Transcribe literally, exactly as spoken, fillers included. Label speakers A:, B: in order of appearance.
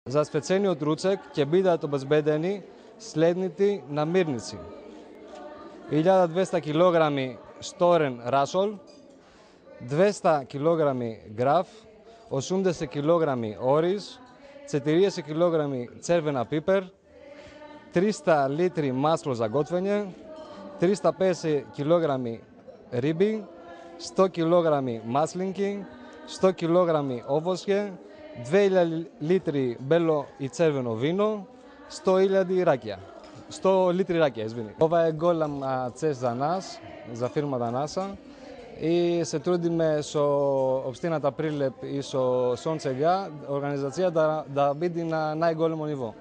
A: За специјниот руцек ќе бидат обезбедени следните намирници: илјада двесте килограми шторен рашол, двесте килограми граф, осумдесет килограми ориз, четириесет килограми црвена пипер, триста литри масло за готвење, триста педесет килограми риби, сто килограми маслинки, сто килограми овошје, две илјади литри бело и црвено вино, сто илјади ракија. сто литри ракија, извини. Ова е голем цест за нас, за фирмата НАСА, и се трудиме со општината Прилеп и со Сонце га организацијата да, да биде на најголемо ниво.